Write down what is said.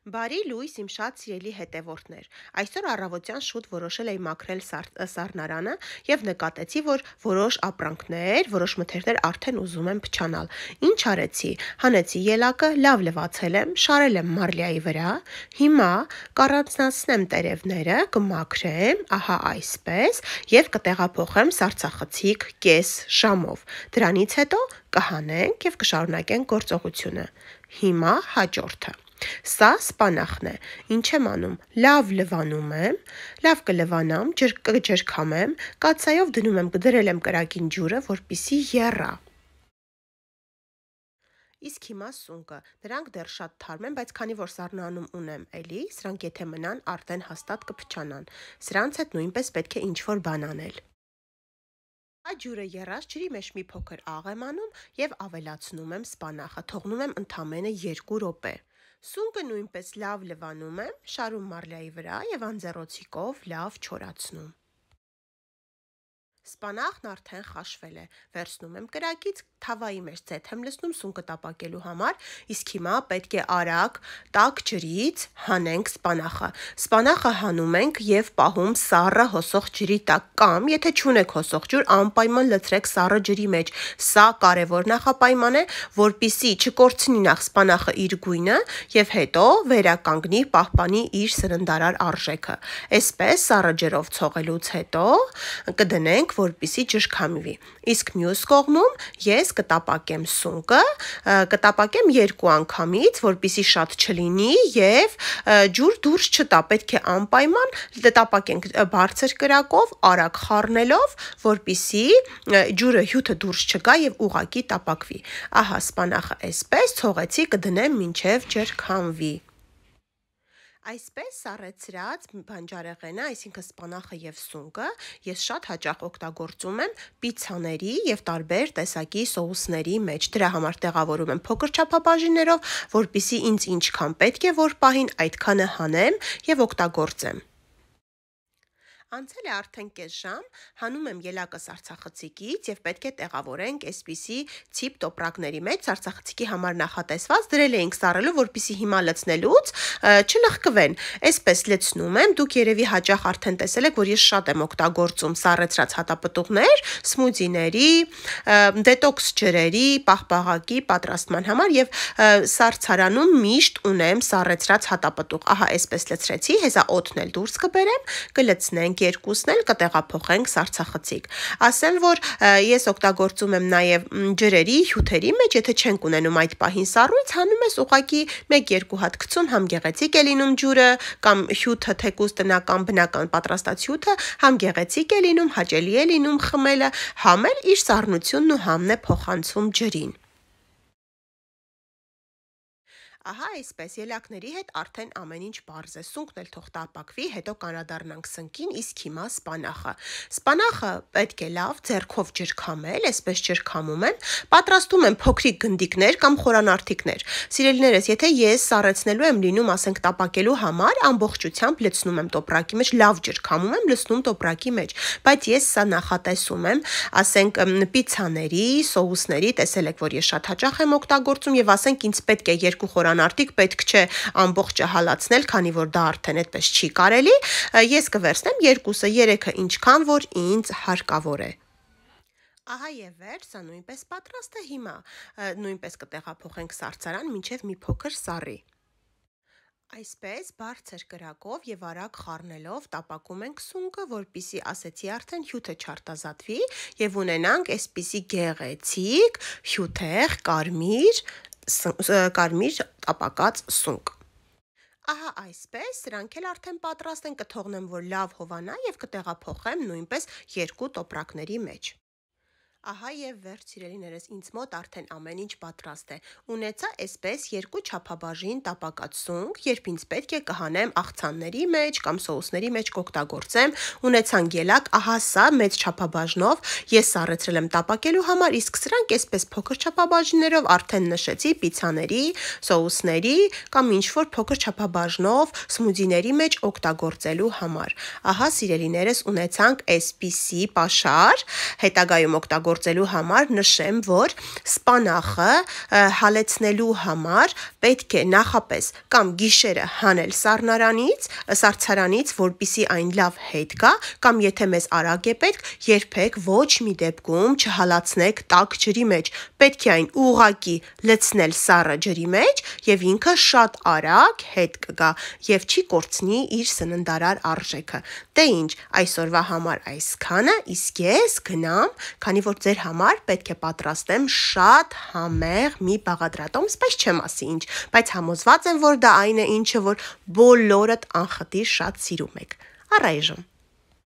Բարի լույս իմ շատ սիրելի հետևորդներ, այսօր առավոտյան շուտ որոշել էի մաքրել սառնարանը և նկատեցի, որ որոշ ապրանքներ, որոշ մթերքներ արդեն ուզում են փչանալ։ Ինչ արեցի, հանեցի ելակը, լավ լվացել եմ, շարել եմ մարլիայի վրա, հիմա կառանձնացնեմ տերևները, կմաքրեմ, ահա այսպես, և կտեղափոխեմ սառցախցիկ կես ժամով, դրանից հետո կհանենք և կշարունակենք գործողությունը։ Հիմա հաջորդը։ Սա սպանախն է, ինչ եմ անում, լավ լվանում եմ, լավ կլվանամ, կջրքամեմ, կաթսայով դնում եմ, դրել եմ կրակին ջուրը, որպեսզի եռա։ Իսկ հիմա սունկը, դրանք դեռ շատ թարմ են, բայց քանի որ սառնանում ունեմ էլի, սրանք եթե մնան, արդեն հաստատ կփչանան, սրանց հետ նույնպես պետք է ինչ-որ բան անել։ Ջուրը եռած ջրի մեջ մի փոքր աղ եմ անում և ավելացնում եմ սպանախը, թողնում եմ ընդամենը 2 րոպե։ Սունկը նույնպես լավ լվանում եմ, շարում մարլիայի վրա և անձեռոցիկով լավ չորացնում։ Սպանախն արդեն խաշվել է, վերցնում եմ կրակից, թավայի մեջ ձեթ եմ լցնում սունկը տապակելու համար, իսկ հիմա պետք է արագ տաք ջրից հանենք սպանախը։ Սպանախը հանում ենք և պահում սառը հոսող ջրի տակ կամ, եթե չունեք հոսող ջուր, անպայման լցրեք սառը ջրի մեջ։ Սա կարևոր նախապայման է, որպեսզի չկորցնի նախ սպանախը իր գույնը և հետո վերականգնի, պահպանի իր սննդարար արժեքը։ Այսպես սառը ջրով ցողելուց հետո կդնենք, որպեսզի ջրքամվի։ Իսկ մյուս կողմում ես կտապակեմ սունկը, կտապակեմ 2 անգամից, որպեսզի շատ չլինի և ջուր դուրս չտա, պետք է անպայման տապակենք բարձր կրակով, արագ խառնելով, որպեսզի ջուրը հյութը դուրս չգա և ուղղակի տապակվի։ Ահա սպանախը այսպես ցողեցի, կդնեմ մինչև ջրքամվի։ Այսպես սառեցրած բանջարեղենը, այսինքն սպանախը և սունկը, ես շատ հաճախ օգտագործում եմ պիցցաների և տարբեր տեսակի սոուսների մեջ։ Դրա համար տեղավորում եմ փոքր չափաբաժիններով, որպեսզի ինձ ինչքան պետք է որ պահին, այդքանը հանեմ և օգտագործեմ։ Անցել է արդեն կես ժամ, հանում եմ ելակը սառցախցիկից և պետք է տեղավորենք այսպիսի ցիպ տոպրակների մեջ, սառցախցիկի համար նախատեսված, դրել էինք սառելու, որպեսզի հիմա լցնելուց չլխկվեն։ Այսպես լցնում եմ, դուք երևի հաճախ արդեն տեսել եք, որ ես շատ եմ օգտագործում սառեցրած հատապտուղներ, սմուձիների, դետոքս ջրերի, պաղպաղակի պատրաստման համար և սառցարանում միշտ ունեմ սառեցրած հատապտուղ։ Ահա այսպես լցրեցի, հեսա օդն էլ դուրս կբերեմ, կլցնենք երկուսն էլ, կտեղափոխենք սառցախցիկ։ Ասեմ, որ ես օգտագործում եմ նաև ջրերի, հյութերի մեջ, եթե չենք ունենում այդ պահին սառույց, հանում ես ուղղակի 1-2 հատ գցում, համ գեղեցիկ է լինում ջուրը, կամ հյութը թեկուզ տնական բնական պատրաստած հյութը, համ գեղեցիկ է լինում, հաճելի է լինում խմելը, համ էլ իր սառնությունն ու համն է փոխանցում ջրին։ Ահա այսպես, ելակների հետ արդեն ամեն ինչ պարզ է, սունկն էլ թող տապակվի, հետո կանադառնանք սնկին, իսկ հիմա սպանախը։ Սպանախը պետք է լավ ձեռքով ջրքամել, այսպես ջրքամում եմ, պատրաստում եմ փոքրիկ գնդիկներ կամ խորանարդիկներ։ Սիրելիներս, եթե ես սառեցնելու եմ լինում, ասենք տապակելու համար, ամբողջությամբ լցնում եմ տոպրակի մեջ, լավ ջրքամում եմ, լցնում տոպրակի մեջ, բայց ես սա նախատեսում եմ, ասենք պիցցաների, սոուսների, տեսել եք, որ ես շատ հաճախ եմ օգտագործում և ասենք ինձ պետք է 2 խորանարդիկ, պետք չէ ամբողջը հալացնել, քանի որ դա արդեն այդպես չի կարելի, ես կվերցնեմ 2-ը, 3-ը ինչքան որ ինձ հարկավոր է։ Ահա և վերջ, սա նույնպես պատրաստ է, հիմա նույնպես կտեղափոխենք սառցարան մինչև մի փոքր սառի։ Այսպես բարձր կրակով և արագ խառնելով տապակում ենք սունկը, որպեսզի ասեցի արդեն հյութը չարտազատվի և ունենանք այսպիսի գեղեցիկ, հյութեղ, կարմիր տապակած սունկ։ Ահա այսպես, սրանք էլ արդեն պատրաստ են, կթողնեմ, որ լավ հովանա և կտեղափոխեմ նույնպես 2 տոպրակների մեջ։ Ահա և վերջ, սիրելիներս, ինձ մոտ արդեն ամեն ինչ պատրաստ է։ Ունեցա այսպես 2 չափաբաժին տապակած սունկ, երբ ինձ պետք է կհանեմ աղցանների մեջ կամ սոուսների մեջ կօգտագործեմ, ունեցանք ելակ, ահա սա մեծ չափաբաժնով ես սառեցրել եմ տապակելու համար, իսկ սրանք այսպես փոքր չափաբաժիններով արդեն նշեցի պիցցաների, սոուսների կամ ինչ-որ փոքր չափաբաժնով սմուձիների մեջ օգտագործելու համար։ Ահա, սիրելիներս, ունեցանք այսպիսի պաշար, հետագայում օգտագործենք օգտագործելու համար նշեմ, որ սպանախը հալեցնելու համար պետք է նախապես կամ գիշերը հանել սառցարանից, որպեսզի այն լավ հետ գա, կամ եթե մեզ արագ է պետք, երբեք ոչ մի դեպքում չհալացնեք տաք ջրի մեջ։ Պետք է այն ուղղակի լցնել սառը ջրի մեջ եւ ինքը շատ արագ հետ կգա եւ չի կորցնի իր սննդարար արժեքը։ Դե ինչ, այսօրվա համար այսքանը, իսկ ես գնամ, քանի որ ձեր համար պետք է պատրաստեմ շատ համեղ մի բաղադրատոմս, բայց չեմ ասի ինչ, բայց համոզված եմ, որ դա այն է, ինչը որ բոլորդ անխտիր շատ սիրում եք։ Առայժմ